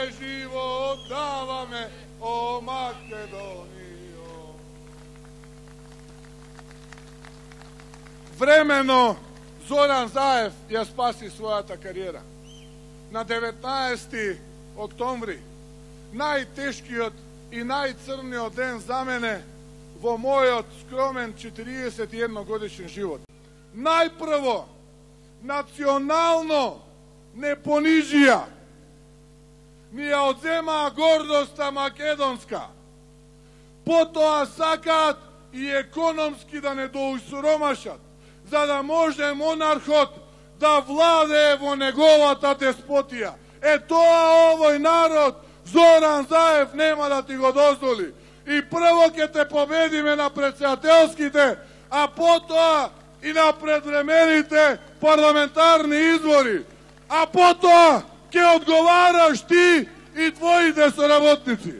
своје живо отдаваме, о Македонијо. Времено Зоран Заев ја спаси својата кариера. На 19. октомври, најтешкиот и најцрниот ден за мене во мојот скромен 41 годишен живот. Најпрво, национално не понижија, ни ја одземаа гордоста македонска. Потоа сакаат и економски да не доусуромашат, за да може монархот да владее во неговата деспотија. Тоа овој народ, Зоран Заев, нема да ти го дозволи. И прво ќе те победиме на претседателските, а потоа и на предвремените парламентарни избори. А потоа ќе одговараш ти и твоите соработници.